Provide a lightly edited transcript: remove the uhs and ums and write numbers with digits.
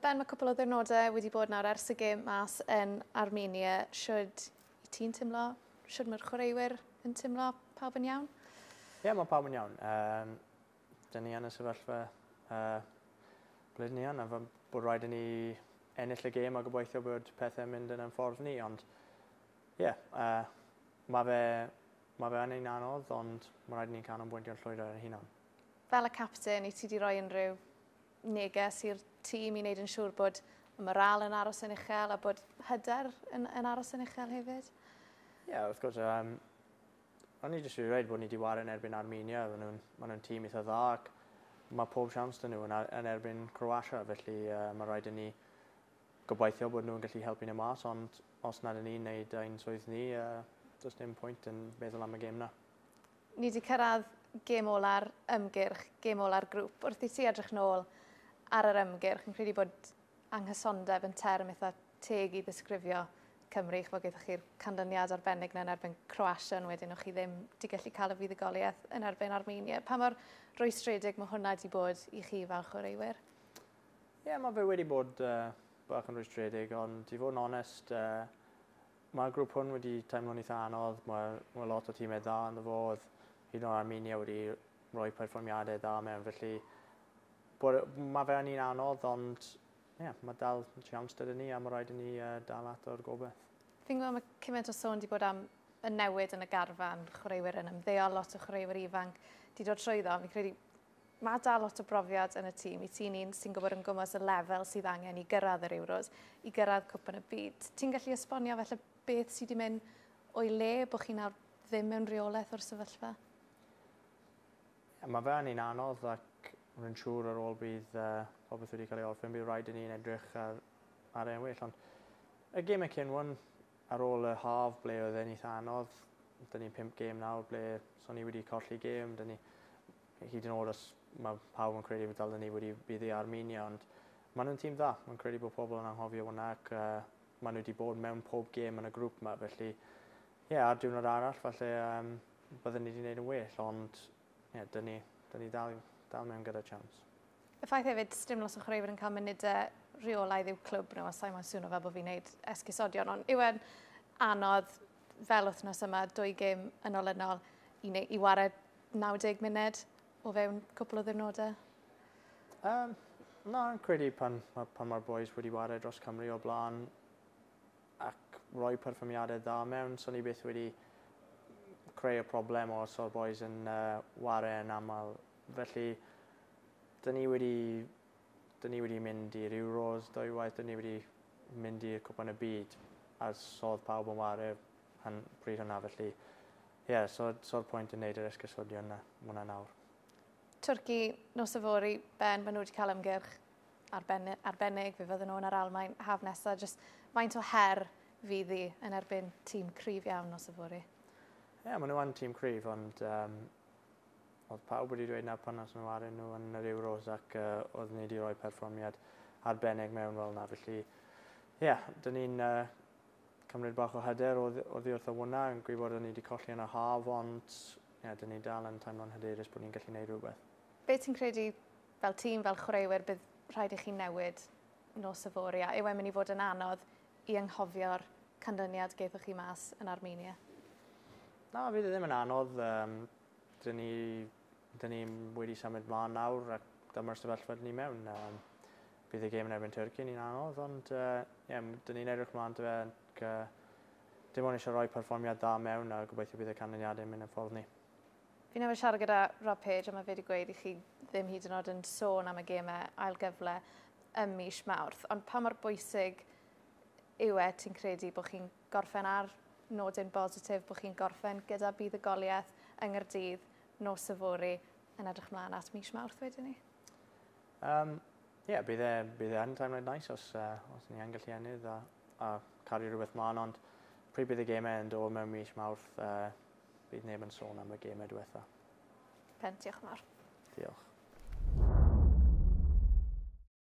Ben, mae cwpl o ddiwrnodau wedi bod nawr ers y gêm mas yn Armenia. Shwd i ti'n teimlo? Shwd mae'r chwaraewyr yn teimlo? Pawb yn iawn? Ie, yeah, mae pawb yn iawn. Dyn ni yn y sefyllfa ble dyn ni yn, a bod rhaid i ni ennill y gêm a gobeithio bod pethau'n mynd yn ein ffordd ni, ond ie, yeah, mae fe yn ein anodd, ond mae rhaid i ni canolbwyntio'n llwyr ar ein hunan. Fel y captain, i ti wedi rhoi unrhyw neges i'r tîm i wneud yn siŵr bod y morale yn aros yn uchel a bod hyder yn aros yn uchel hefyd? Ie, yeah, wrth gwrs. O'n i jyst wedi dweud bod ni wedi ware yn erbyn Armenia. Maen nhw'n tîm eitha dda ac mae pob siawns 'da nhw yn erbyn Croatia, felly mae rhaid i ni gobeithio bod nhw'n gallu helpu nhw mas, ond os nad ydyn ni'n neud ein swydd ni, does dim pwynt yn meddwl am y gêm na. Ni wedi cyrraedd gêm ola'r ymgyrch, gêm ola'r grŵp. Wrth i ti edrych nôl ar yr ymgyrch, yn credu bod anghysondeb yn term eitha teg i ddisgrifio Cymru, ch'mod, gaethoch chi'r canlyniad arbennig 'na yn erbyn Croatia, ond wedyn o'ch chi ddim wedi gallu cael y fuddugoliaeth yn erbyn Armenia. Pa mor rwystredig mae hwnna wedi bod i chi fel chwaraewyr? Ie, yeah, mae fe wedi bod bach yn rwystredig, ond i fod yn onest, mae'r grŵp hwn wedi teimlo'n eitha anodd. Mae lot o tîmau dda ynddo fo. Oedd hyd yn oed Armenia wedi rhoi perfformiadau dda mewn, felly bod, mae fe yn un anodd, ond ie, yeah, mae dal siawns gyda ni a mae rhaid i ni dal at o'r gobeith. Fi'n gwybod mae cymaint o sôn wedi bod am y newid yn y garfan, chwaraewyr yn ymddeol, lot o chwaraewyr ifanc wedi dod trwyddo. Fi'n credu mae dal lot o brofiad yn y tîm. I ti'n un sy'n gwybod yn gwmws y lefel sydd angen i gyrraedd yr Euros, i gyrraedd Cwpan y Byd. Ti'n gallu esbonio felly beth sydd wedi mynd o'i le, bod chi nawr ddim mewn reolaeth o'r sefyllfa? Yeah, mae fe yn un anodd ac rwy'n siŵr ar ôl bydd popeth wedi cael ei orffen, bydd rhaid i ni'n edrych ar e'n well. Ond y gemau cyn hwn, ar ôl y haf ble oedd e'n eitha anodd, dyn ni'n pump gêm nawr ble so ni wedi colli gêm, dyn ni hyd yn oed os mae pawb yn credu bod dal ni wedi bydd i Armenia, ond maen nhw'n tîm dda. Mae'n credu bod pobl yn anghofio hwnna ac maen nhw wedi bod mewn pob gêm yn y grŵp yma, felly ie, yeah, ar diwrnod arall falle byddwn ni wedi gwneud yn well, ond ie, yeah, dyn ni dal mewn gyda chance. Y ffaith hefyd, dim lot o chwaraewyr yn cael munudau rheolaidd i'w clwb nhw, a sa'i moyn swno fel bod fi'n neud esgusodion, ond yw e'n anodd fel wythnos yma, dwy gêm yn olynol, i ware 90 munud o fewn cwpl o ddiwrnodau? Na, yn credu pan mae'r boys wedi ware dros Cymru o blaen ac rhoi perfformiadau dda mewn, so ni byth wedi creu y problem os o'r boys yn ware yn aml. Felly, dyn ni wedi mynd i'r Euros dwywaith, dyn ni wedi mynd i'r Cwpan y Byd a sodd pawb yn ware han, pryd hwnna, felly ie, yeah, so'r pwynt yn neud yr esgusodion yna, hwnna nawr. Twrci nos yfory, Ben, maen nhw wedi cael ymgyrch arbennig, fe fydden nhw yn yr Almaen haf nesaf. Just faint o her fydd hi yn erbyn tîm cryf iawn nos yfory? Ie, yeah, maen nhw yn tîm cryf, ond oedd pawb wedi dweud na pan nas nhw arnyn nhw yn yr Euros ac oedd ni wedi rhoi perfformiad arbennig mewn fel yna. Felly, ie, yeah, dyn ni'n cymryd bach o hyder oddi wrth y hwnna, yn gwybod bod ni wedi colli yn y haf, ond ie, yeah, dyn ni dal yn teimlo'n hyderus bod ni'n gallu gwneud rhywbeth. Be ti'n credu fel tîm, fel chwaraewyr, bydd rhaid i chi newid nos yfory? A yw e'n mynd i fod yn anodd i anghofio'r canlyniad gaethoch chi mas yn Armenia? Na, fydd e ddim yn anodd. Dyn ni wedi symud mlaen nawr ac dyma'r sefyllfa dyn ni mewn. Bydd y gêm yn erbyn Turkey ni'n anodd, ond yeah, dyn ni'n edrych mlaen to fe. Ac, dim ond eisiau rhoi perfformiad dda mewn a gobeithio bydd y canlyniadau yn mynd yn ffordd ni. Fi newydd siarad gyda Rob Page a mae fe wedi gweud i chi ddim hyd yn oed yn sôn am y gemau ail gyfle ym mis Mawrth. Ond pa mor bwysig yw e, ti'n credu, bod chi'n gorffen ar nodyn bositif, bod chi'n gorffen gyda buddugoliaeth yng Nghaerdydd nos yfory yn edrych mlaen at mis Mawrth wedyn ni? Yeah, bydd e yn teimlo'n nice os ni yn gallu ennill a cario rhywbeth mlaen, ond pryd bydd y gemau yn dod mewn mis Mawrth, bydd neb yn sôn am y gemau diwetha. Ben, diolch yn fawr. Diolch.